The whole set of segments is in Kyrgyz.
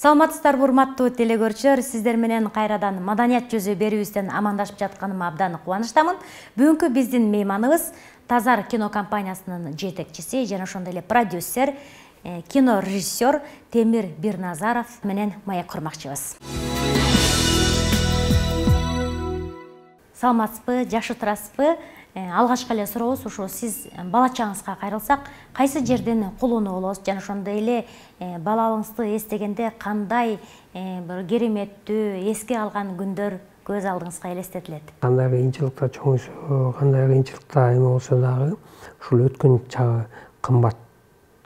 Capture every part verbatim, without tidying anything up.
Саламатсыздарбы урматтуу телекөрүүчүлөр, сиздер менен кайрадан маданият жүзү берүүбүздөн амандашып жатканыма абдан кубанычтамын. Бүгүнкү биздин мейманыбыз Тазар кино компаниясынын жетекчиси жана ошондой эле продюсер, кино режиссер Темир Бирназаров менен маек курмакчыбыз. Саламатсызбы, жакшы турасызбы? Алгачкы эле сурообуз ушу сиз бала чагыңызга кайрылсак, кайсы жерден кулунуу болосуз жана ошондой эле балалыгыңызды эстегенде кандай бир кереметтүү эске алган күндөр көз алдыңызга элестетилет? Кандай кыйынчылыкта чоңойсо, кандай кыйынчылыкта эме болсо дагы ушул өткөн чагы кымбат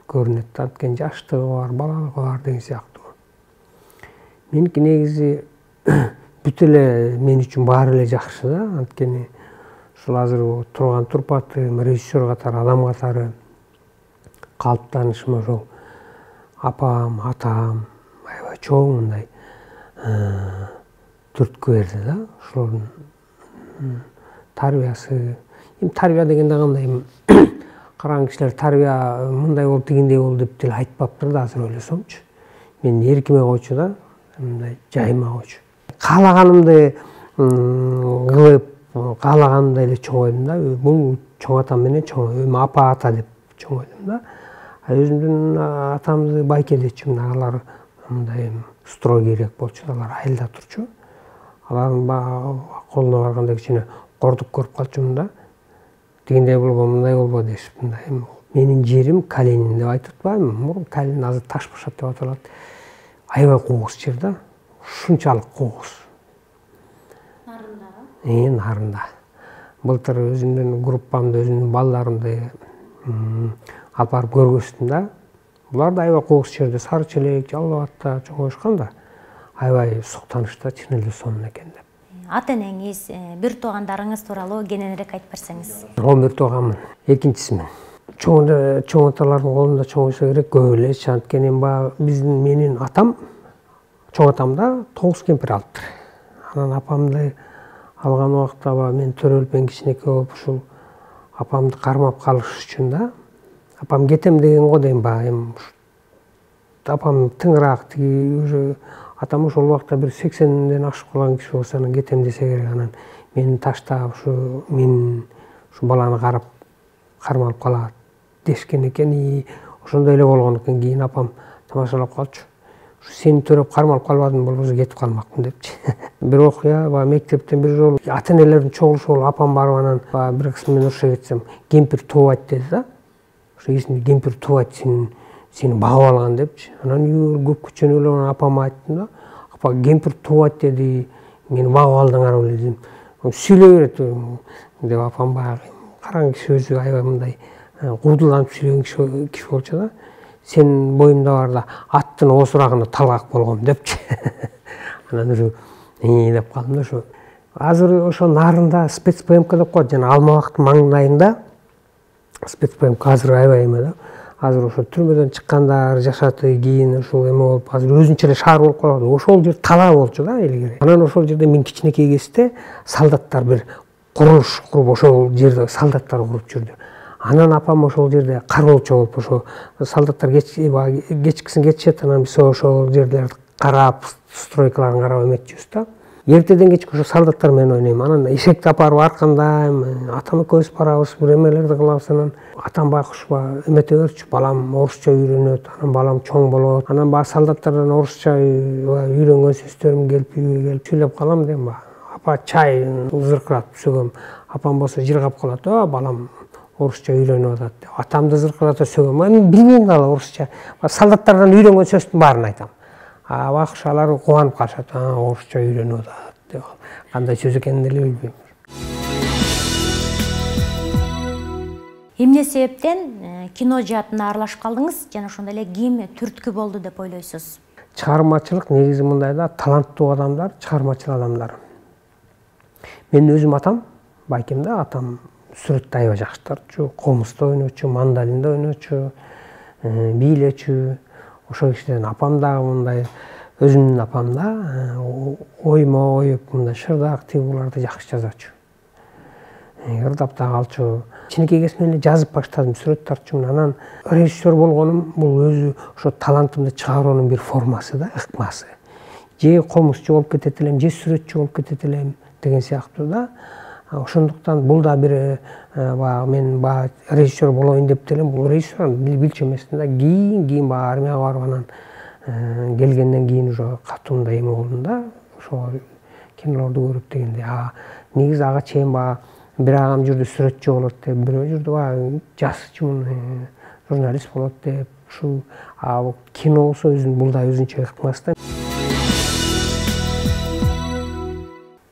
көрүнөт. Анткени жаштыгы бар, балалыгы бар деген сыяктуу. Меники негизи бүт эле мен үчүн баары эле жакшы да, анткени ушул азыр турган турпатым, режиссер катары, адам катары калыптанышым ошол апам, атам, аябай чоң мындай түрткү берди да. Ошолордун тарбиясы, эми тарбия дегенде кандай караган кишилер тарбия мындай болуп, тигиндей болду деп деле айтпаптыр да азыр ойлосомчу. Мен эркиме койчу да, мындай жайыма койчу. Каалаганымды кылып, каалаганымдай эле чоңойдум да. Бул чоң атам менен чоң, эми апа ата деп чоңойдум да. Өзүмдүн атамды байке дечүмүн, алар мындай строгийрээк болчу, алар айылда турчу. Алардын колуна барганда кичине кордук көрүп калчумун да. Тигиндей болбо, мындай болбо дешип, мындай. Менин жерим Калинин деп айтып атпаймынбы? Мурун Калин, азыр Таш башат деп аталат. Аябай кооз жер да. Ушунчалык кооз. Нарындагы? Э, нарында. Былтыр өзүмдүн группамды, өзүмдүн балдарымды алып барып көргөздүм да. Булар да аябай кооз жерде, Сары Челек, Жалал абадта чоңоюшкан да. Аябай суктанышта чын эле сонун экен деп. Ата энеңиз, бир туугандарыңыз тууралуу кененирээк айтып берсеңиз. он бир тууганмын, экинчисимин. Чоң чоң аталардын колунда чоңойсо керек, көп эле. Анткени баягы биздин менин атам, чоң атам да тогуз кемпир алыптыр. Анан апамды алган убакта мен төрөлүп, мен кичинекей болуп, ушул апамды кармап калыш үчүн да. Апам кетем деген го дейм баягы, эми апам тыңыраак, тиги уже атам ошол убакта бир сексенден ашып калган киши болсо, анан кетем десе керек, анан мени таштап, ушу мен ушу баланы карап кармалып калат дешкен экен. И ошондой эле болгон экен. Кийин апам тамашалап калчу. Ушу сени төрөп кармалып калбадым, болбосо кетип калмакмын депчи. Бир окуя, баягы мектептен бир жолу ата энелердин чогулушу болуп, апам барып анан баягы бир кыз менен уруша кетсем, кемпир туубайт деди да. Ошо эсимде, кемпир туубайт, сени сени багып алган депчи. Анан көп күчөнүп эле апама айттым да. Апа, кемпир туубайт деди, мени багып алдыңар беле дедим. Сүйлөй берет деп апам баягы караган киши өзү аябай мындай куудуланып сүйлөгөн киши болчу да. Сенин боюңда бар да, аттын оосурагына талгак болгом депчи. Анан ушу и деп калдым да. Ошо азыр ошо нарында спецпмк деп коет, жана Алмабактын маңдайында спецпмк азыр аябай эме да. Азыр ошо түрмөдөн чыккандар жашаты, кийин ошол эме болуп, азыр өзүнчө эле шаар болуп калды. Ошол жер талаа болчу да илгери. Анан ошол жерде мен кичинекей кезде солдаттар бир курулуш куруп, ошол жерде солдаттар куруп жүрдү. Анан апам ошол жерде кароолчу болуп, ошо солдаттар кечкисин кетишет, анан биз ошол жерлерди карап, стройкаларын карап эметчүбүз да. Эртеден кечке ошо солдаттар менен ойнойм. Анан эшекти алып барып аркандайм, атам экөөбүз барабыз, бир эмелерди кылабыз. Анан атам байкуш эмете берчү, балам орусча үйрөнөт, анан балам чоң болот. Анан баягы солдаттардан орусча үйрөнгөн сөздөрүм келип, үйгө келип сүйлөп калам дейм ба. Апа чай зыркыратып сөгөм. Апам болсо жыргап калат, "О, балам орусча үйрөнүп атат" деп. Атамды зыркыратып сөгөм. Мен билбейм дагы орусча. Солдаттардан үйрөнгөн сөздүн баарын айтам. А байкуш алар кубанып калышат. "А, орусча үйрөнүп атат" деп. Кандай сөз экенин деле билбейм. Эмне себептен кино жаатына аралашып калдыңыз жана ошондой эле ким түрткү болду деп ойлойсуз? Чыгармачылык негизи мындай да, таланттуу адамдар, чыгармачыл адамдар. Мен өзүм атам, байкем да, атам сүрөттү аябай жакшы тартчу, комузда ойночу, мандолинде ойночу, бийлечү. Ошол кишиден апам дагы мындай, өзүмдүн апам да оймо оюп, мындай шырдак, тигуларды жакшы жазачу. Ырдап да калчу. кичинекей кезимден эле жазып баштадым, сүрөт тартчумун. Анан режиссер болгонум бул өзү ошо талантымды чыгаруунун бир формасы да, ыкмасы. Же комузчу болуп кетет элем, же сүрөтчү болуп кетет элем деген сыяктуу да. Ошондуктан бул да бир баягы мен баягы режиссер болоюн деп делем, бул режиссер билчү эмесмин да. Кийин кийин баягы армияга барып анан келгенден кийин уже катууунда эме болдум да. Ошо кинолорду көрүп дегенде, а негизи ага чейин баягы бир агам жүрдү сүрөтчү болот деп, бирөө жүрдү баягы жазчумун, журналист болот деп. Ушул кино болсо өзүнүн бул да өзүнчө ыкмасы да.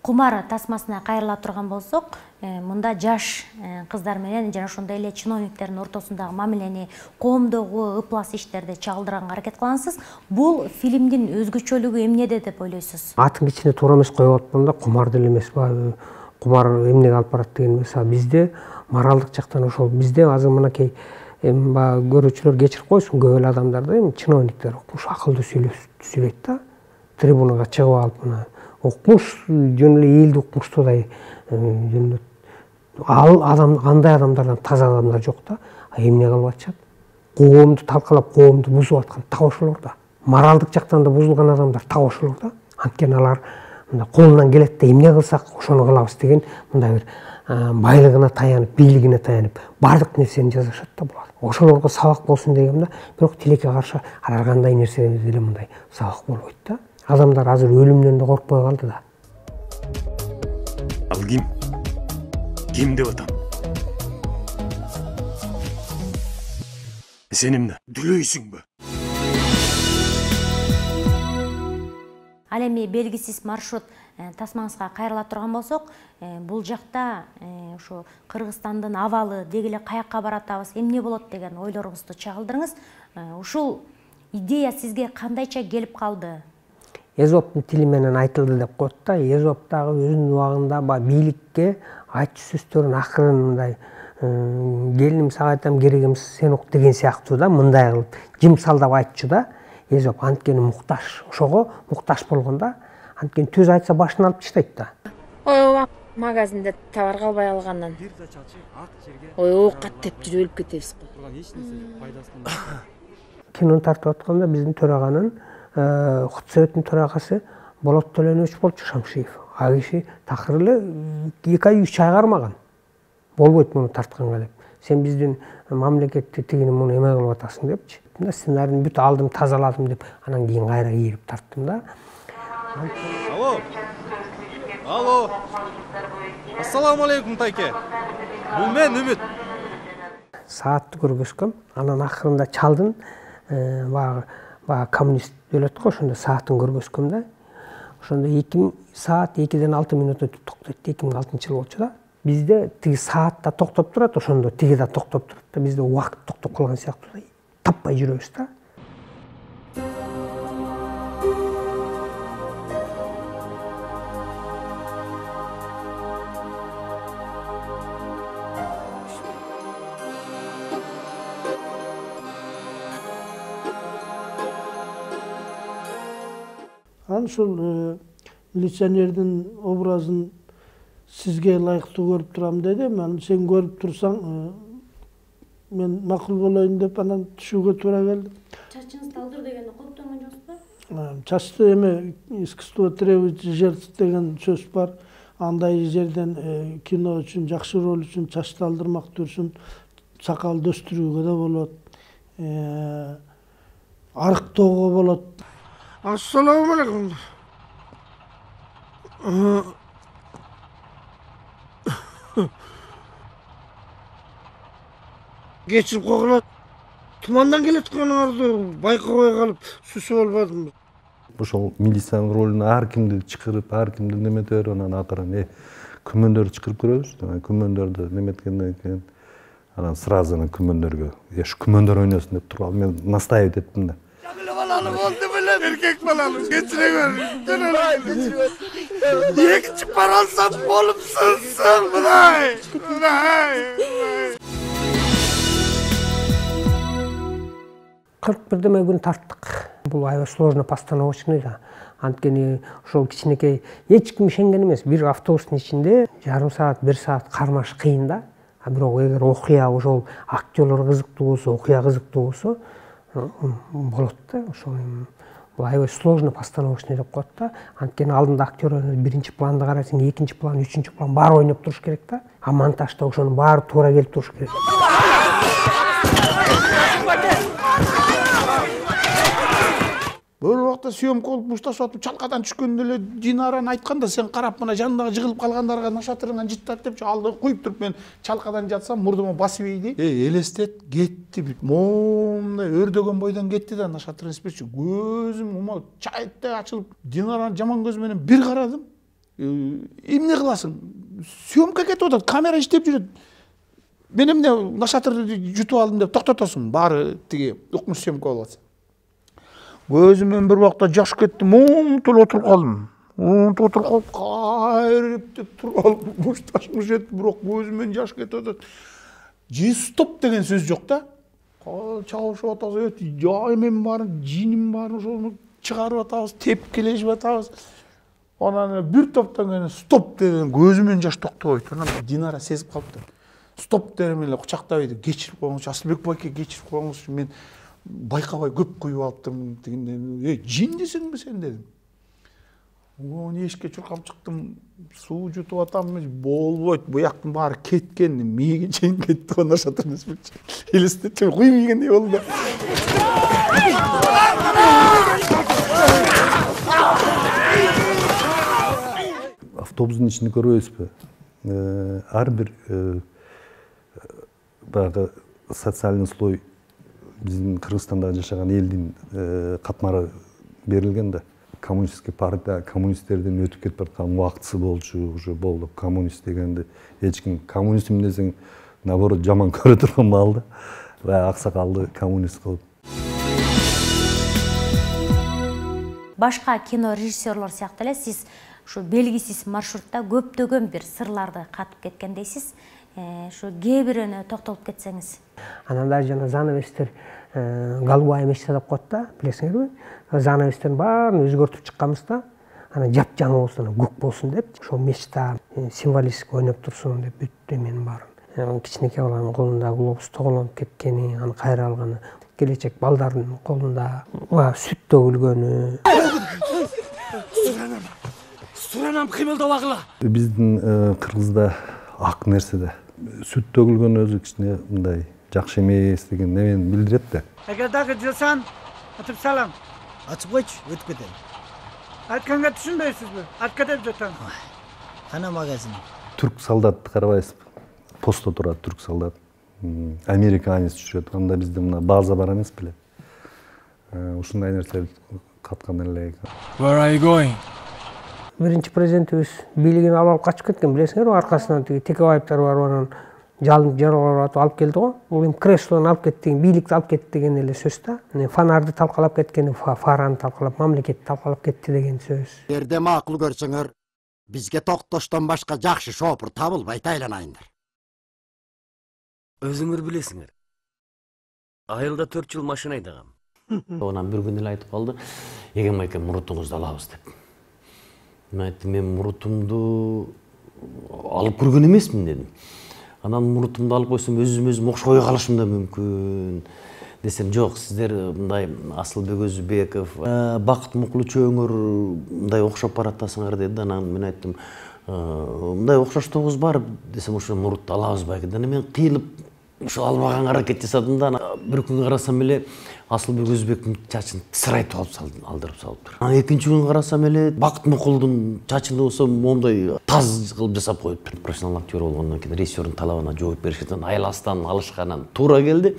Кумар тасмасына кайрыла турган болсок, мында жаш кыздар менен жана ошондой эле чиновниктердин ортосундагы мамилени, коомдогу ыплас иштерди чагылдырганга аракет кыласыз. Бул фильмдин өзгөчөлүгү эмнеде деп ойлойсуз? Атын кичине туура эмес коюп атпам да, кумар деле эмес баягы кумар эмнеге алып барат деген эмес. Бизде моралдык жактан ошол, бизде азыр мынакей эми баягы көрүүчүлөр кечирип койсун, көп эле адамдарды, эми чиновниктер укмуш акылдуу сүйлөйт да. Трибунага чыгып алып мына укмуш, жөн эле элди укмуштуудай ал адам, андай адамдардан таза адамдар жок да. Эмне кылып атышат? Коомду талкалап, коомду бузуп аткан так ошолор да. Моралдык жактан да бузулган адамдар так ошолор да. Анткени алар мындай колунан келет да, эмне кылсак ошону кылабыз деген мындай бир байлыгына таянып, бийлигине таянып, бардык нерсени жасашат да булар. Ошолорго сабак болсун дегем да, бирок тилекке каршы ар кандай нерседе деле мындай сабак болбойт да. Адамдар азыр өлүмдөн да коркпой калды да. Ал ким? Ким деп атам? Сен эмне? Дүлөйсүңбү? Ал эми белгисиз маршрут тасмаңызга кайрыла турган болсок, бул жакта ушу Кыргызстандын абалы деги эле каякка баратабыз, эмне болот деген ойлоруңузду чагылдырыңыз. Ушул идея сизге кандайча келип калды? Эзоптун тили менен айтылды деп коет да. Эзоп дагы өзүнүн убагында бийликке айтчу сөздөрүн акырын мындай келиним сага айтам, керегим сен ук деген сыяктуу да, мындай кылып жымсалдап айтчу да. Эзоп анткени мукташ, ошого мукташ болгон да. Анткени төз айтса башын алып таштайт да. Ой, магазинде товар калбай алгандан. Ой, оокат деп жүрүп өлүп кетебиз го. Кинону тартып атканда биздин төраганын Хутсоветтин төрагасы Болот Төлөнбөч болчу, Шамшиев. А киши такыр эле эки ай үч ай кармаган. Болбойт муну тартканга деп. Сен биздин мамлекетти тигини муну эме кылып атасың депчи. Сценарийни бүт алдым, тазаладым деп, анан кийин кайра ийирип тарттым да. Алло. Алло. Ассаламу алейкум, тайке. Бул мен Үмүт. Саатты көргөзгөм, анан акырында чалдын, баягы баягы коммунист өлөт го, ошондо саатын көргөзгөм да. Ошондо эки саат экиден алты мүнөт өтүп токтойт. эки миң алтынчы жыл болчу да. Бизде тиги саат да токтоп турат, ошондо тиги да токтоп турат да. Бизде убакыт токтоп калган сыяктуу да. Таппай жүрөбүз да. Анан ушул милиционердин образын сизге ылайыктуу көрүп турам дедим. Анан сен көрүп турсаң, мен макул болоюн деп анан түшүүгө туура келди. Чачыңызды алдыр дегенди коптогон жоксузбу? Чачты эме искусство требует жертв деген сөз бар. Андай жерден кино үчүн, жакшы роль үчүн чачты алдырмак dursun, сакал дөстүрүүгө да болот. Арыктоого болот. Ассаламу алейкум. Кечирип койгула. Тумандан келеткеныңарды байкабай калып, сүсүп албадым. Ошол милициянын ролуна ар кимди чакырып, ар кимди немете берип, анан акырын э күмөндөрдү чакырып көрөбүз. Күмөндөрдү неметкенден кийин анан сразу анан күмөндөргө, эш күмөндөр ойносун деп туруп мен настаивать эттим да. Баланы болду белем, эркек баланы кечире көр. Экинчи пара алсам болупсуң, мынай. Мынай. кырк бирдеме күн тарттык. Бул аябай сложно постановочный да. Анткени ошол кичинекей эч ким ишенген эмес. Бир автобустун ичинде жарым саат, бир саат кармаш кыйын да. А бирок эгер окуя ошол актерлор кызыктуу болсо, окуя кызыктуу болсо болот да. Ошол эми бул аябай сложно постановочный деп коет да. Анткени алдында актер биринчи планды карасаң, экинчи план, үчүнчү план баары ойноп туруш керек да. А монтажда ошонун баары туура келип туруш керек. Бир убакта съемка болуп бушташып атып чалкадан түшкөндө эле Динараны айткан да, сен карап мына жандагы жыгылып калгандарга нашатырыңан жыттат депчи алды коюп туруп, мен чалкадан жатсам мурдума басып ийди. Эй, элестет кетти, момундай өрдөгөн бойдон кетти да нашатыр инспекчи. Көзүм ума чайыттай ачылып, Динараны жаман көз менен бир карадым. Эмне кыласың? Съемка кетип атат, камера иштеп жүрөт. Мен эмне нашатырды жутуп алдым деп токтотосуң, баары тиги укмуш съемка болуп атса. Көзүмөн бир убакта жаш кетти, момунтуп отуруп калдым. Момунтуп отуруп калып, кайрып деп туруп алып, бушташмыш этти, бирок көзүмөн жаш кетип атат. Же стоп деген сөз жок да. Чалышып атабыз, жаймен баарын, жиним баарын ошону чыгарып атабыз, тепкилешип атабыз. Анан бир топтон кийин стоп деген көзүмөн жаш токтобойт. Анан Динара сезип калыптыр. Стоп дегем эле кучактап ийди, кечирип коюңузчу, Асылбек байке, кечирип коюңузчу, мен байкабай көп куюп алыптырмын дегенде, эй, жин десеңби сен дедим. Оны эшикке чуркап чыктым, суу жутуп атам, болбойт, буяктын баары кеткен, мээге чейин кетти го нашатыр инспекчи. Элестетчим куюп ийгендей болду да. Автобустун ичинде көрбөйсүзбү? Ар бир баягы социальный слой биздин Кыргызстанда жашаган элдин катмары берилген да. Коммунистический партия, коммунисттерден өтүп кетип бараткан убактысы болчу, уже болду. Коммунист дегенди эч ким коммунистим десең, наоборот жаман көрө турган маал да. Баягы аксакалды коммунист кылып. Башка кино режиссерлор сыяктуу эле сиз ушу белгисиз маршрутта көптөгөн бир сырларды катып кеткендейсиз. Şu кээ бирөөнө токтолуп кетсеңиз. Анан да жана занавестер голубая мечта деп коет да, билесиңерби? Занавестердин баарын өзгөртүп чыкканбыз да. Анан жапжаңы болсун, көк болсун деп, ошол мечта символистик ойноп турсун деп бүттү менин баарын. Кичинекей баланын колунда глобус тоголонуп кеткени, аны кайра алганы, келечек балдардын колунда сүт төгүлгөнү. Суранам кыймылдабагыла. Биздин Кыргызда ак нерсе да. Сүт төгүлгөн өзү кичине мындай жакшы эмес деген немени билдирет да. Эгер дагы жылсаң, атып салам. Ачып койчу, өтүп кетем. Айтканга түшүнбөйсүзбү? Атка деп жатам. Кана магазин. Түрк солдатты карабайсызбы? Постто турат түрк солдат. Американец жүрөт. Анда бизде мына база бар эмес беле? Ушундай нерсе каткан эле. Where are you going? Биринчи президентибиз бийлигин алып качып кеткен, билесиңерби, аркасынан тиги Текебаевдер бар, анан жалынып жаралап алып келди го. Бул эми креслону алып кетти, бийликти алып кетти деген эле сөз да. Фонарды талкалап кеткени, фараны талкалап, мамлекетти талкалап кетти деген сөз. Эгерде макул көрсөңөр, бизге токтоштон башка жакшы шопур табылбайт, айланайындар. Өзүңөр билесиңер. Айылда төрт жыл машина айдагам. Онан бир күн эле айтып калды, "Эгем айке, мурутуңузду алабыз" деп. Мен айттым, мен мурутумду алып көргөн эмесмин дедим. Анан мурутумду алып койсом өзүм өзүм окшобой калышым да мүмкүн десем, жок, сиздер мындай Асылбек Өзүбеков, Бакыт Мукулучөңөр мындай окшоп баратасыңар деди. Анан мен айттым, мындай окшоштугубуз бар десем, ошо мурутты алабыз байке. Анан мен кыйылып ошо албаганга аракет жасадым да. Бир күн карасам эле Асылбек Өзүбектин чачын сырайтып алып салдым, алдырып салыптыр. Анан экинчи күн карасам эле Бакыт Мукулдун чачын болсо моундай таз кылып жасап коюптур. Профессионал актер болгондон кийин режиссердун талабына жооп беришкен, айластан алышканан туура келди.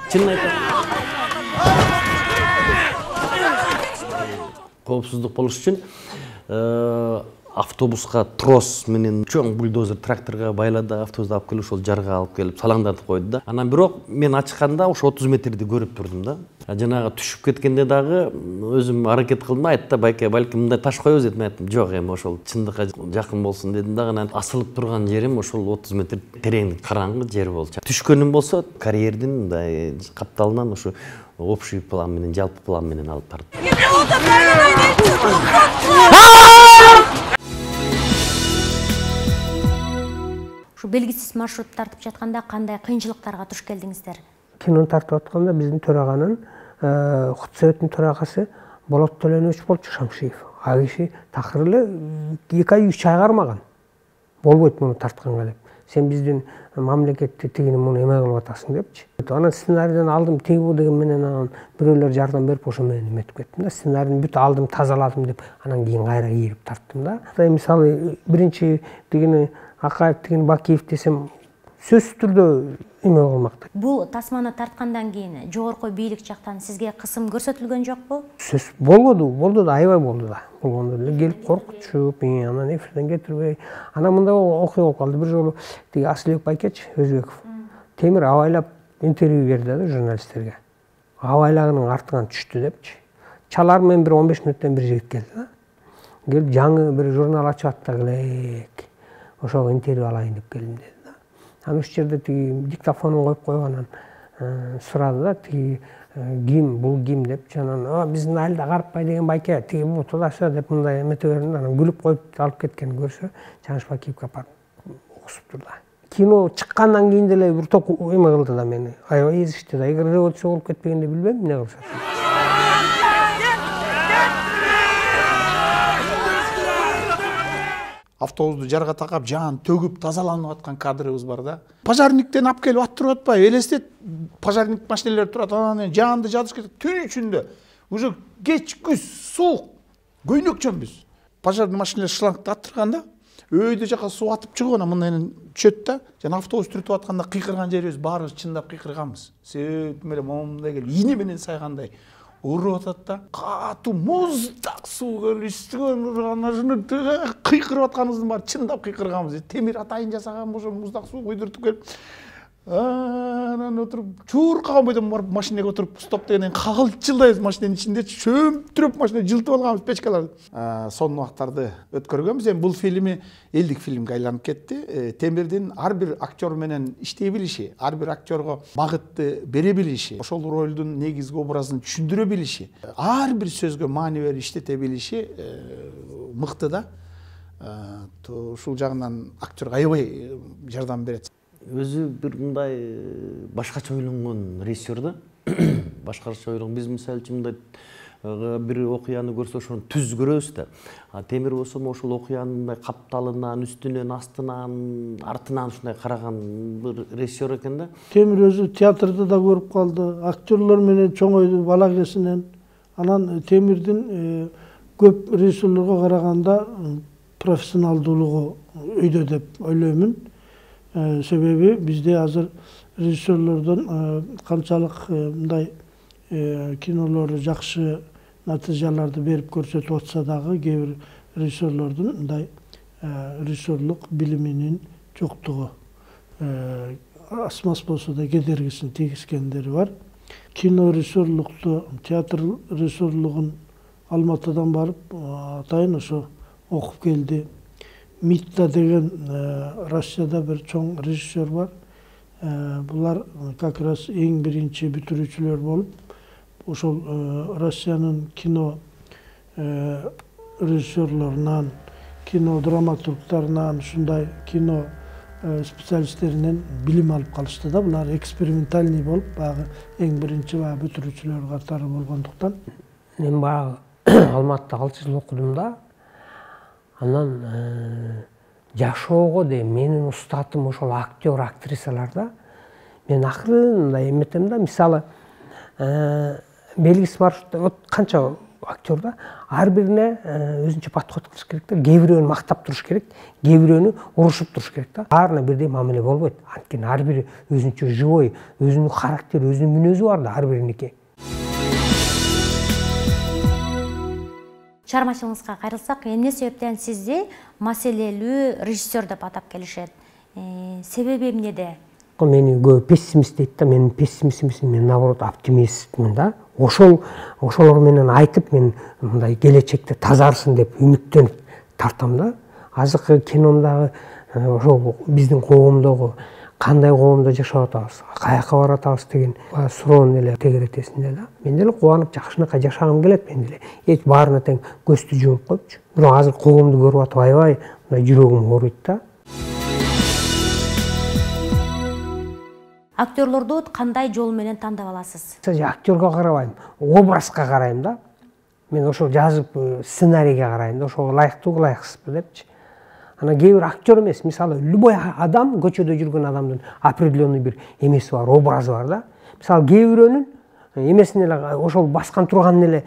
Чынын айтам. Коопсуздук болуш үчүн автобуска трос менен чоң бульдозер тракторга байлады, автобусту алып келип ошол жарга алып келип салаңдатып койду да. Анан бирок мен ачканда ошо отуз метрди көрүп турдум да. Жанагы түшүп кеткенде дагы өзүм аракет кылдым, айтты, байке, балким мындай таш коебуз дедим. Айттым, жок, эми ошол чындыкка жакын болсун дедим да. Анан асылып турган жерим ошол отуз метр тереңдик караңгы жер болчу. Түшкөнүм болсо карьердин мындай капталынан ошо общий план менен, жалпы план менен алып бардым. Ушу белгисиз маршрут тартып жатканда кандай кыйынчылыктарга туш келдиңиздер? Кинону тартып атканда биздин төраганын хут советинин төрагасы Болот Төлөнбович болчу, Шамшиев. А киши такыр эле эки ай үч ай кармаган. Болбойт муну тартканга деп. Сен биздин мамлекетти тигини муну эме кылып атасың депчи. Анан сценарийден алдым, тиги бу деген менен анан бирөөлөр жардам берип ошо менен эметип кеттим да. Сценарийни бүт алдым, тазаладым деп, анан кийин кайра кийип тарттым да. Мисалы биринчи тигини Акаев тигини Бакиев десем сөзсүз түрдө эме кылмак. Бул тасманы тарткандан кийин жогорку бийлик жактан сизге кысым көрсөтүлгөн жокпу? Сөз болду, болду да, аябай болду да. Болгондо эле келип коркутушуп, анан эфирден кетирбей. Анан мындай окуя болуп калды. Бир жолу тиги Асылбек Байкеч Өзбеков темир абайлап интервью берди да журналисттерге. Абайлагынын артынан түштү депчи. Чалар менен бир он беш мүнөттөн бир жигит келди да. Келип жаңы бир журнал ачып аттак элек. Ошого интервью алайын деп келдим деди. Анан ушул жерде тиги диктофонун коюп койгонун сурады да, тиги ким, бул ким деп, анан биздин айылда Карпбай деген байке, тиги бул тудасы деп мындай эмете бердим, анан күлүп коюп алып кеткенин көрсө, Жаныш Бакиевге апарып угусуптур да. Кино чыккандан кийин деле бир топ эме кылды да мени. Аябай эзишти да. Эгер революция болуп кетпегенде билбейм эмне кылышат. Автобусту жарга такап, жаан төгүп, тазаланып аткан кадрыбыз бар да. Пожарниктен алып келип аттырып атпайбы? Элестет, пожарник машиналар турат, анан жаанды жадыш кетип, түн ичинде уже кеч күз суук, көйнөкчөнбүз. Пожарный машиналар шлангды аттырганда, өйдө жака суу атып чыгып, анан мындан түшөт да, жана автобус түртүп атканда кыйкырган жерибиз баарыбыз чындап кыйкырганбыз. Сөйт менен момундай келип, ийне менен сайгандай уруп атат да, катуу муздак суу келип үстүгөн урган, кыйкырып атканыбыздын баары чындап кыйкырганбыз. Темир атайын жасаган ошо муздак суу куйдуртуп келип, анан отуруп чуркаган бойдон барып машинеге отуруп стоп дегенден кагылчылдайбыз машинанын ичинде, чөмтүрөп машина жылтып алганбыз печкаларды. Сонун убактарды өткөргөнбүз. Эми бул фильми элдик фильмге айланып кетти. Темирдин ар бир актер менен иштей билиши, ар бир актерго багытты бере билиши, ошол ролдун негизги образын түшүндүрө билиши, ар бир сөзгө маани берип иштете билиши мыкты да. Ушул жагынан актерге аябай жардам берет. Өзү бир мындай башкача ойлонгон режиссер да. Башкача ойлонгон. Биз мисалы үчүн мындай бир окуяны көрсө ошону түз көрөбүз да. А Темир болсо ошол окуянын мындай капталынан, үстүнөн, астынан, артынан ушундай караган бир режиссер экен да. Темир өзү театрда да көрүп калды, актерлор менен чоңойду бала кезинен. Анан Темирдин көп режиссерлорго караганда профессионалдуулугу өйдө деп ойлоймун. Себеби бизде азыр режиссерлордон канчалык мындай кинолору жакшы натыйжаларды берип көрсөтүп атса дагы, кээ бир режиссерлордун мындай режиссерлук билиминин жоктугу асмас болсо да кедергисин тийгизгендери бар. Кино режиссерлукту, театр режиссерлугун Алматыдан барып атайын ошо окуп келди. Митта деген Россияда бир чоң режиссер бар. Булар как раз эң биринчи бүтүрүүчүлөр болуп, ошол Россиянын кино режиссерлорунан, кино драматургтарынан, ушундай кино специалисттеринен билим алып калышты да. Булар экспериментальный болуп, баягы эң биринчи баягы бүтүрүүчүлөр катары болгондуктан. Мен баягы Алматыда алты жыл окудум да. Анан жашоого де менин устатым ошол актер, актрисалар да. Мен акырын мындай эметем да, мисалы белгисиз маршрутта вот канча актер да, ар бирине өзүнчө подход кылыш керек да. Кээ бирөөнү мактап туруш керек, кээ бирөөнү урушуп туруш керек да. Баарына бирдей мамиле болбойт. Анткени ар бири өзүнчө живой, өзүнүн характери, өзүнүн мүнөзү бар да ар бириники. Чыгармачылыгыңызга кайрылсак, эмне себептен сизди маселелүү режиссер деп атап келишет? Себеби эмнеде? Мени көп пессимист дейт да, мен пессимист эмесмин, мен наоборот оптимистмин да. Ошол ошолор менен айтып, мен мындай келечекте тазарсын деп үмүттөнүп тартам да. Азыркы киномдагы ошол биздин коомдогу кандай коомдо жашап атабыз, каяка баратабыз деген суроону эле тегеретесиң да. Мен деле кубанып жакшынакай жашагым келет, мен деле. Эч баарына тең көздү жумуп коюпчу. Бирок азыр коомду көрүп атып аябай мындай жүрөгүм ооруйт да. актерлорду кандай жол менен тандап аласыз? Актерге карабайм, образга карайм да. Мен ошол жазып сценарийге карайм да, ошого ылайыктуу ылайыксызбы депчи. Анан кээ бир актер эмес, мисалы любой адам, көчөдө жүргөн адамдын определенный бир эмеси бар, образы бар да. Мисалы кээ бирөөнүн эмесин эле ошол баскан турганын эле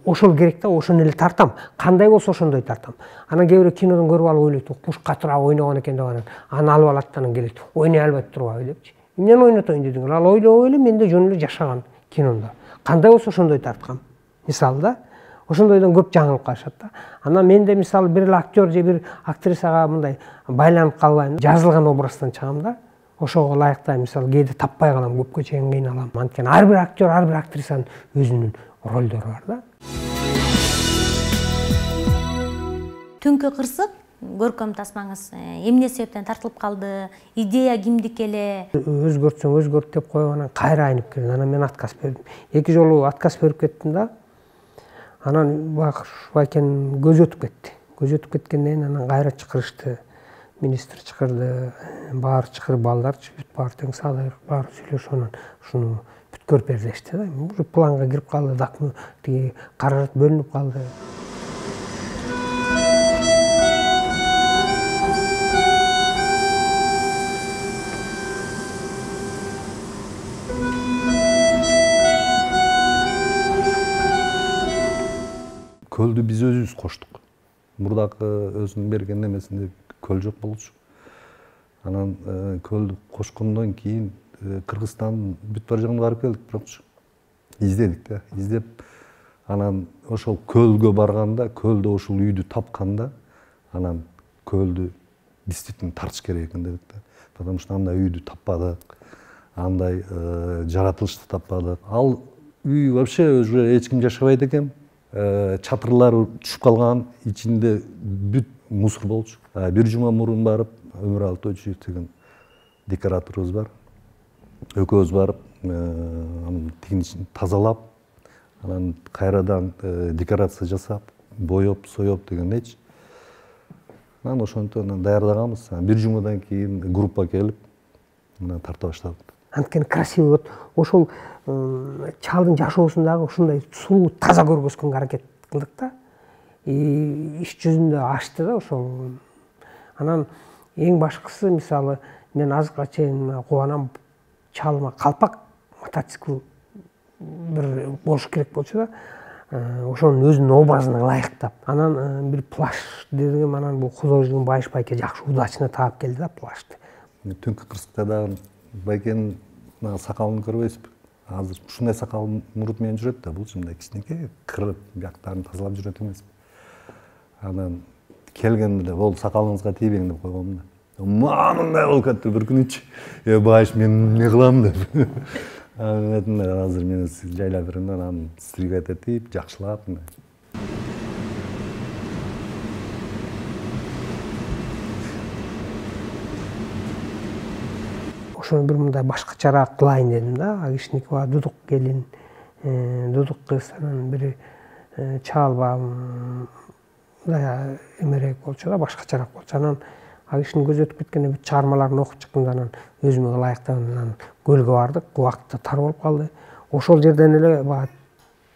ошол керек да, ошону эле тартам. Кандай болсо ошондой тартам. Анан кээ бирөө кинодон көрүп алып ойлойт, куш катырак ойногон экен деп анан аны алып алат, анан келет, ойной албайт турбайбы депчи. Эмнени ойнотойн дедиңер? Ал ойлобой эле менде жөн эле жашаган киномдо. Кандай болсо ошондой тарткам. Мисалы да, ошондойдон көп жаңылып калышат да. Анан менде мисалы бир эле актер же бир актрисага мындай байланып калбайм, жазылган образдан чыгам да. Ошого ылайыктуу мисалы кээде таппай калам, көпкө чейин кыйналам. Анткени ар бир актер, ар бир актрисанын өзүнүн ролдору бар да. Түнкү кырсык көркөм тасмаңыз эмне себептен тартылып калды? Идея кимдики эле? Өзгөртсөң өзгөрт деп коюп анан кайра айнып келди. Анан мен отказ бердим. Эки жолу отказ берип кеттим да. Анан байкен көз өтүп кетти. Көз өтүп кеткенден кийин анан кайра чакырышты. Министр чакырды, баары чакырып, балдарчы бүт баары тең саалайык, баары сүйлөшүп анан ушуну бүткөрүп бер дешти да. Уже планга кирип калды, документ тиги каражат бөлүнүп калды. Көлдү биз өзүбүз коштук. Мурдакы өзүнүн берген немесинде көл жок болчу. Анан көлдү кошкондон кийин Кыргызстан бүт бар жагына барып келдик, бирокчу издедик да, издеп анан ошол көлгө барганда, көлдө ошол үйдү тапканда, анан көлдү действительно тартыш керек экен дедик да. Потому что андай үйдү таппадык, андай жаратылышты таппадык. Ал үй вообще уже эч ким жашабайт экен. Чатырлары түшүп калган, ичинде бүт мусор болчу. Бир жума мурун барып, Өмүралы Тойчуев деген декораторубуз бар. Экөөбүз барып, анын тигин тазалап, анан кайрадан декорация жасап, боеп, соеп дегендейчи. Анан ошентип даярдаганбыз. Бир жумадан кийин группа келип, анан тарта баштадык. Анткени красивый вот ошол чалдын жашоосун дагы ушундай сулуу, таза көргөзгөнгө аракет кылдык да. И иш жүзүндө ачты да ошол. Анан эң башкысы мисалы мен азыркыга чейин кубанам, чалыма калпак, мотоцикл бир болуш керек болчу да. Ошонун өзүнүн образына ылайыктап. Анан бир плащ дедим, анан бул художник Байыш байке жакшы удачно таап келди да плашты. Түнкү кырсыкта дагы байкенин сакалын көрбөйсүзбү? Азыр ушундай сакал мурут менен жүрөт да, бул мындай кичинекей кырып, бияктарын тазалап жүрөт эмеспи? Анан келгенде бол сакалыңызга тийбең деп койгом да. Мындай болуп кетти бир күнүчү. Э, Байыш мен эмне кылам деп. Анан азыр мени жайлап берем да, анан стригать этип, жакшылап. Ошону бир мындай башкачараак кылайын дедим да. Агишникова Дудук келин, Дудук кыз, анан бир чалба мындай эмерээк болчу да, башкачараак болчу. Анан Агиштин көзү өтүп кеткенде бүт чыгармаларын окуп чыктым да, анан өзүмө ылайыктап анан көлгө бардык. Убакыт тар болуп калды. Ошол жерден эле бага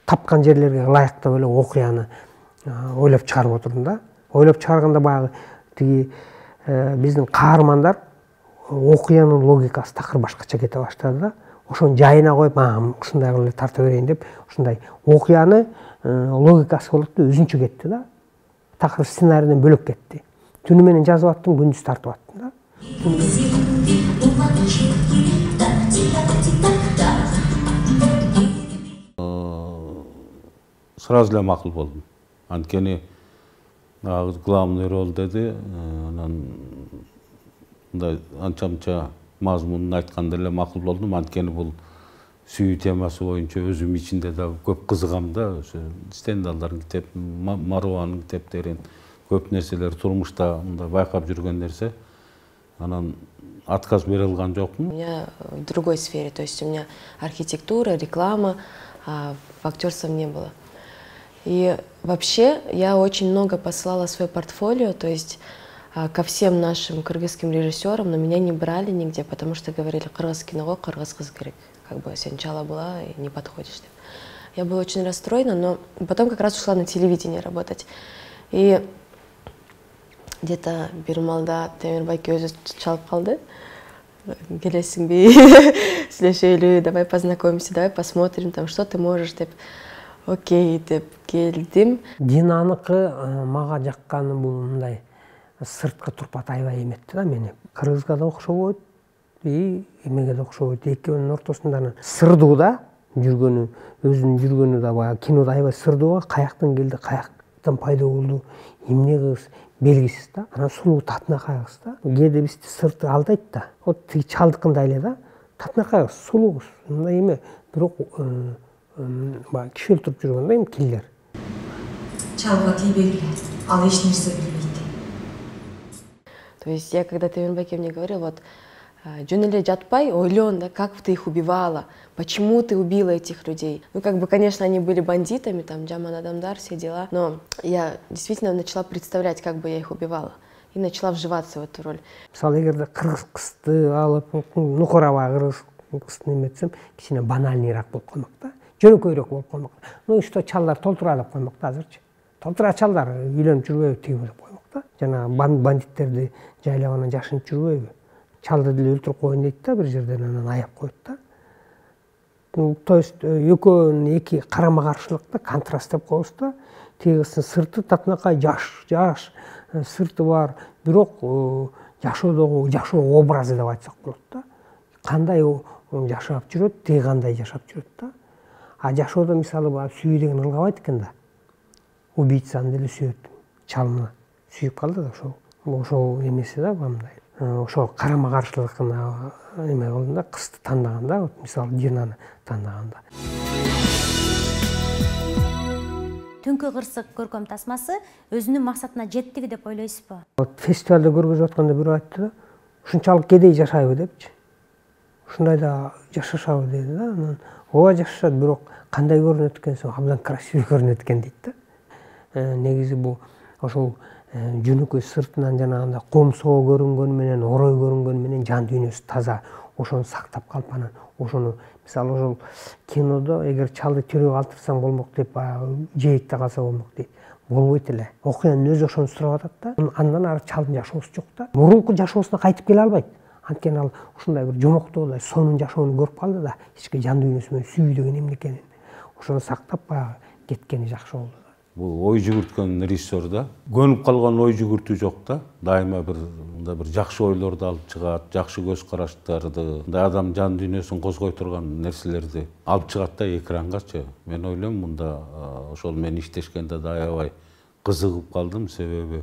тапкан жерлерге ылайыктап эле окуяны ойлоп чыгарып отурдум да. Ойлоп чыгарганда баягы тиги биздин каармандар окуянын логикасы такыр башкача кете баштады да. Ошону жайына коюп, ушундай кылып эле тарта берейин деп, ушундай окуяны логикасы болот да, өзүнчө кетти да. Такыр сценарийден бөлөк кетти. Түнү менен жазып аттым, күндүз тартып аттым да. Сразу эле макул болдум. Анткени главный роль деди, анан мындай анча-мынча мазмунун айтканда эле макул болдум. Анткени бул сүйүү темасы боюнча өзүм ичинде да көп кызыгам да. Ошо Стендалдардын китеп, Маруанын китептерин, көп нерселер турмушта мындай байкап жүргөн нерсе. Анан отказ бере алган жокмун. У меня в другой сфере, то есть у меня архитектура, реклама, а в актерстве не было. И вообще я очень много посылала свое портфолио, то есть ко всем нашим кыргызским режиссерам, но меня не брали нигде, потому что говорили, кыргыз киного кыргыз кыз керек. Как бы сен чала была и не подходишь. Я была очень расстроена, но потом как раз ушла на телевидение работать. И где-то бир маалда Темирбайке өзү чалып калды. Келесиңби, сүйлөшөлү, давай познакомимся, давай посмотрим, там, что ты можешь, деп. Окей, деп келдим. Динаныкы мага жакканы бул мындай сырткы турпат аябай эметти да мени. Кыргызга да окшобойт, и эмеге да окшобойт. Экөөнүн ортосунда сырдуу да жүргөнү, өзүнүн жүргөнү да баягы кинода аябай сырдуу, каяктан келди, каяктан пайда болду, эмне кыз белгисиз да. Анан сулуу татынакай кыз да. Кээде бизди сырты алдайт да. Вот тиги чалдыкындай эле да. Татынакай кыз, сулуу кыз. Мындай эме, бирок баягы киши өлтүрүп жүргөн да эми киллер. Чалга тийбегиле, ал эч нерсе билбейт. То есть я когда Темирбайке мне говорил, вот жөн эле жатпай, ойлон, да, как ты их убивала, почему ты убила этих людей. Ну, как бы, конечно, они были бандитами, там, жаман адамдар, все дела, но я действительно начала представлять, как бы я их убивала, и начала вживаться в эту роль. Мисалы, эгерде кыргыз кызды алып, нукураба кыргыз кызды эметсем, кичине банальныйраак болуп калмак да, жөнөкөйрөөк болуп калмак. Ну, что чалдар толтура деп коймок да азырчы. Толтура чалдар үйлөнүп жүрбөйбү тиги деп коймок да. Жана бандиттерди жайлап анан жашынып жүрбөйбү. Чалды деле өлтүрүп коеюн дейт да бир жерден, анан аяп коет да. То есть экөөнүн эки карама каршылыкта контраст деп коебуз да. Тиги кыздын сырты татынакай жаш, жаш сырты бар, бирок жашоодогу жашоо образы деп айтсак болот да. Кандай жашап жүрөт, тиги кандай жашап жүрөт да. А жашоодо мисалы баягы сүйүү деген ылгабайт экен да. Убийцаны деле сүйөт, чалына сүйүп калды да ошол. Ошол эмеси да мындай. Ошо карама каршылыгына эме кылдым да, кызды тандаганда, вот мисалы Динаны тандаганда. Түнкү кырсык көркөм тасмасы өзүнүн максатына жеттиби деп ойлойсузбу? Вот фестивалда көргөзүп атканда бирөө айтты да, ушунчалык кедей жашайбы депчи. Ушундай да жашашабы деди да. Анан ооба жашашат, бирок кандай көрүнөт экенсиң, абдан красивый көрүнөт экен дейт да. Негизи бул ошол жөнөкөй сыртынан жанагындай комсоо көрүнгөнү менен, орой көрүнгөнү менен жан дүйнөсү таза, ошону сактап калып анан ошону мисалы ошол кинодо эгер чалды тирүү калтырсаң болмок деп баягы жээкте калса болмок дейт. Болбойт эле. Окуянын өзү ошону сурап атат да. Андан ары чалдын жашоосу жок да. Мурунку жашоосуна кайтып келе албайт. Анткени ал ушундай бир жомоктоогудай сонун жашоону көрүп калды да, ички жан дүйнөсү менен сүйүү деген эмне экенин. Ошону сактап баягы кеткени жакшы болду. Бул ой жүгүрткөн режиссер да. Көнүп калган ой жүгүртүү жок да. Дайыма бир мындай бир жакшы ойлорду алып чыгат, жакшы көз караштарды, мындай адам жан дүйнөсүн козгой турган нерселерди алып чыгат да экрангачы. Мен ойлойм мында ошол менен иштешкенде да аябай кызыгып калдым, себеби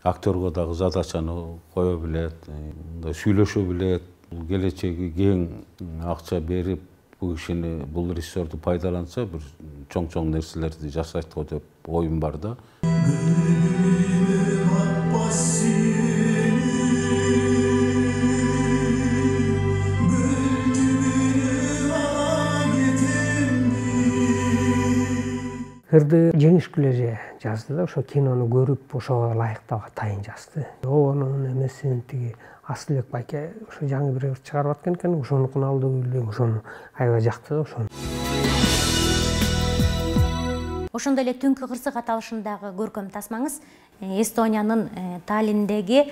актерго дагы задачаны кое билет, мындай сүйлөшө билет, бул келечеги кең акча берип бул кишини, бул режиссерди пайдаланса бир чоң-чоң нерселерди жасайт го деп оюм бар да. Кырды жеңишкүлө же жазды да, ошо кинону көрүп ошого ылайыктап атайын жазды. Онун эмесин тиги Асылбек байке ошо жаңы бир чыгарып аткан экен, ошонукун алды билбейм, ошону аябай жакты да ошону. Ошондой эле Түнкү кырсык аталышындагы көркөм тасмаңыз Эстониянын Таллиндеги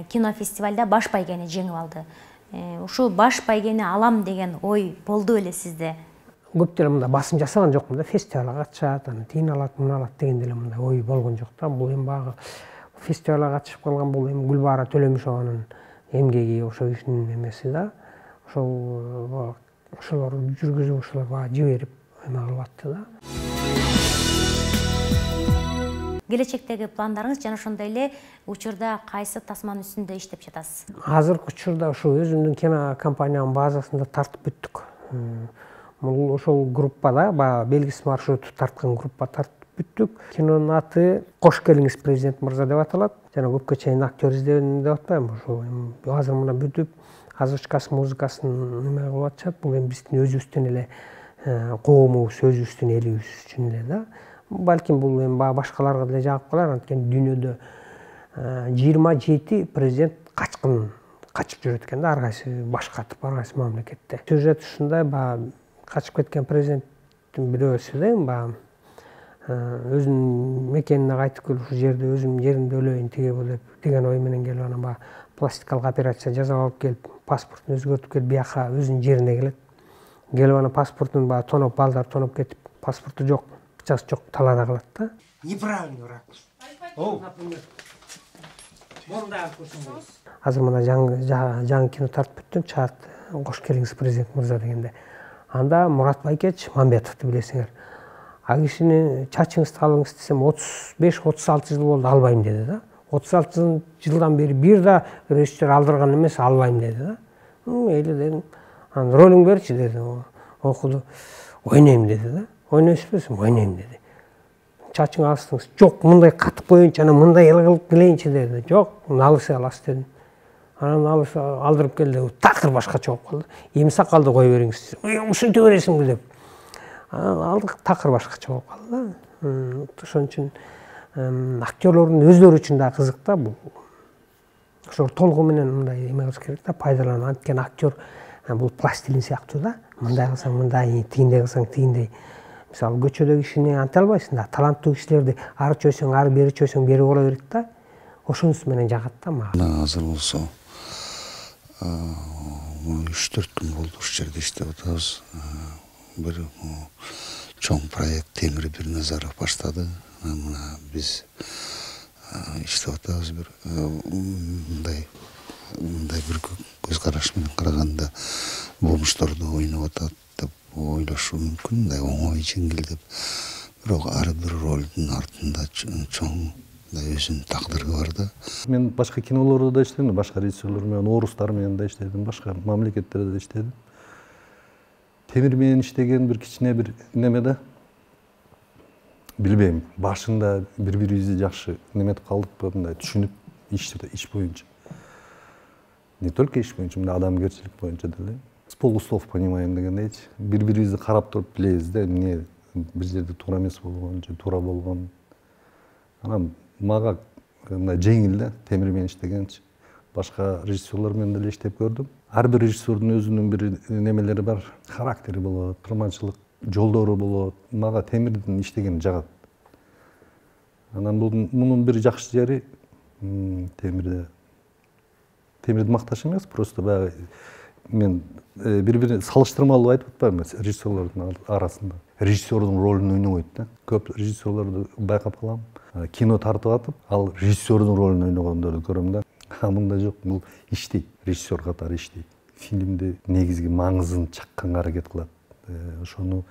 кинофестивалда баш байгени жеңип алды. Ушул баш байгени алам деген ой болду эле сизде? Көп деле мындай басым жасаган жокмун да, фестивалга катышат, аны тиин алат, муну алат деген деле мындай ой болгон жок да. Бул эми багы фестивалга катышып калган, бул эми Гүлбара Төлөмүшованын эмгеги, ошо кишинин эмеси да. Ошол ошолор жүргүзүп, ошолор бага жиберип эме кылып атты да. Келечектеги пландарыңыз жана ошондой эле учурда кайсы тасманын үстүндө иштеп жатасыз? Азыркы учурда ошо өзүмдүн кинокомпаниянын базасында тартып бүттүк. Бул ошол группада баягы белгисиз маршруту тарткан группа тартып бүттүк. Кинонун аты Кош келиңиз президент мырза деп аталат. Жана көпкө чейин актер издебедим деп атпайм. Ошо азыр мына бүтүп, озвучкасын, музыкасын неме кылып атышат. Бул эми биздин өзүбүздүн эле коомубуз, өзүбүздүн элибиз үчүн эле да. Балким бул эми башкаларга деле жагып калар, анткени дүйнөдө жыйырма жети президент качкын качып жүрөт экен да, ар кайсы баш катып, ар кайсы мамлекетте. Сюжет ушундай, баягы качып кеткен президенттин бирөөсү да баягы өзүнүн мекенине кайтып келип ушул жерде өзүмдүн жеримде өлөйүн тиге бул деп деген ой менен келип анан баягы пластикалык операция жасап алып келип, паспортун өзгөртүп келип бияка өзүнүн жерине келет. Келип анан паспортун баягы тоноп, балдар тоноп кетип, паспорту жок, акчасы жок, талаада калат да. Неправильный ракурс. О, Азыр мына жаңы кино тартып бүттүм, чаат кош келиңиз президент мырза дегенде. Анда Мурат Байкеч Мамбетовду билесиңер. А кишини чачыңызды алыңыз десем отуз беш отуз алты жыл болду, албайм деди да. отуз алты жылдан бери бир да режиссер алдырган эмес, албайм деди да. Мейли дедим. Анан ролуңду берчи деди. Окуду. Ойнойм деди да. Ойнойсузбу десем, ойнойм деди. Чачыңы алсаңыз, жок, мындай катып коеюнчу, анан мындай эл кылып келейинчи деди. Жок, алыса аласыз дедим. Анан алыса алдырып келди, такыр башкача болуп калды. Эми сакалды кое бериңиз. Ушинте бересиңби деп. Алдык такыр башкача болуп калды да. Ошон үчүн актерлордун өздөрү үчүн да кызык да бул. Ошо толугу менен мындай эме кылыш керек да, пайдаланып. Анткени актер бул пластилин сыяктуу да. Мындай кылсаң мындай, тигиндей кылсаң тигиндей. Мисалы көчөдө кишини анта албайсың да. Таланттуу кишилерди ары чөйсөң, ары бери чөйсөң, бери боло берет да. Ошонусу менен жагат да мага. Азыр болсо үч төрт күн болду ушул жерде иштеп атабыз. Бир чоң проект Темир Бирназаров баштады. Мына биз иштеп атабыз бир мындай мындай бир көз караш менен караганда бомушторду ойноп атат деп ойлошу мүмкүн, мындай оңой жеңил деп. Бирок ар бир ролдун артында чоң өзүнүн тагдыры бар да. Мен башка кинолордо да иштедим, башка режиссерлор менен, орустар менен да иштедим, башка мамлекеттерде да иштедим. Темир менен иштеген бир кичине бир неме да. Билбейм, башында бири-бирибизди жакшы неметип калдыкпы, мындай түшүнүп иш боюнча. Не только иш боюнча, мындай адамгерчилик боюнча деле. С полуслов понимаем дегендейчи. Бири-бирибизди карап туруп билебиз да, эмне бир жерде туура эмес болгон же туура болгон. Анан мага мындай жеңил да, Темир менен иштегенчи. Башка режиссерлор менен деле иштеп көрдүм. Ар бир режиссердун өзүнүн бир немелери бар, характери болот, кырманчылык жолдору болот. Мага Темирдин иштегени жагат. Анан мунун бир жакшы жери Темирде Темирди макташ эмес, просто баягы мен бири-бири салыштырмалуу айтып атпайбы режиссерлордун арасында. Режиссердун ролун ойнобойт да. Көп режиссерлорду байкап калам. Кино тартып атып, ал режиссердун ролун ойногондорду көрөм да. А мында жок, бул иштейт, режиссер катары иштейт. Фильмди негизги маңызын чакканга аракет кылат. Ошону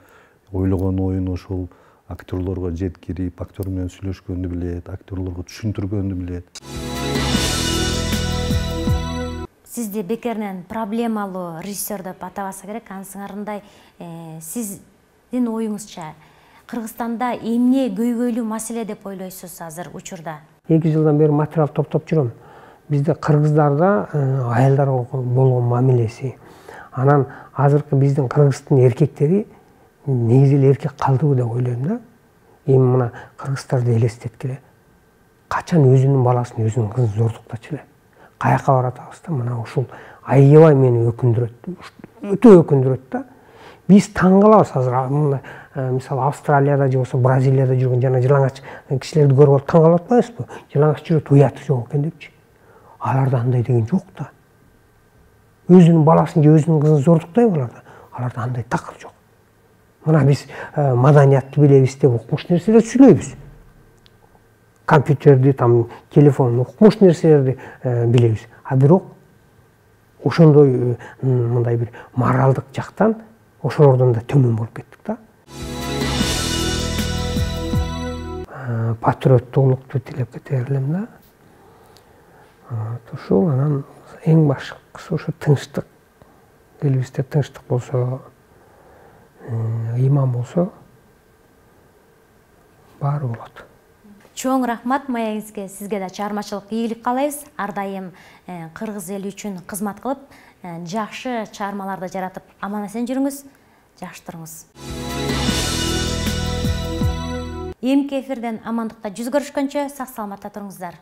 ойлогон оюн ошол актерлорго жеткирип, актер менен сүйлөшкөндү билет, актерлорго түшүндүргөндү билет. Сизди бекеринен проблемалуу режиссер деп атабаса керек, анысыңарындай сиздин оюңузча Кыргызстанда эмне көйгөйлүү маселе деп ойлойсуз азыр учурда? эки жылдан бери материал топтоп жүрөм. Бизде кыргыздарда аялдарга болгон мамилеси, анан азыркы биздин Кыргыздын эркектери негизи эле эркек калдыбы деп ойлойм да. Эми мына кыргыздарды элестеткиле. Качан өзүнүн баласын, өзүнүн кызын зордуктачу эле. Каяка баратабыз да, мына ушул аябай мени өкүндүрөт. Өтө өкүндүрөт да. Биз таң калабыз азыр, мисалы Австралияда же болсо Бразилияда жүргөн жана жылаңач кишилерди көрүп алып таң калып атпайбызбы? Жылаңач жүрөт, уяты жок экен депчи. Аларда андай деген жок да. Өзүнүн баласын же өзүнүн кызын зордуктайбы аларда? Аларда андай такыр жок. Мына биз маданиятты билебиз деп укмуш нерселерди сүйлөйбүз. Компьютерди, там телефон, укмуш нерселерди билебиз. А бирок ошондой мындай бир моралдык жактан ошолордон да төмөн болуп кеттик да. Патриоттуулукту тилеп кетер элем да. Ушул анан эң башкысы ошо тынчтык. Элибизде тынчтык болсо, ыйман болсо баары болот. Чоң рахмат маегиңизге, сизге да чыгармачылык ийгилик каалайбыз. Ар дайым кыргыз эли үчүн кызмат кылып, жакшы чыгармаларды жаратып, аман-эсен жүрүңүз, жакшы туруңуз. Эмки эфирден амандыкта жүз көрүшкөнчө сак саламатта туруңуздар.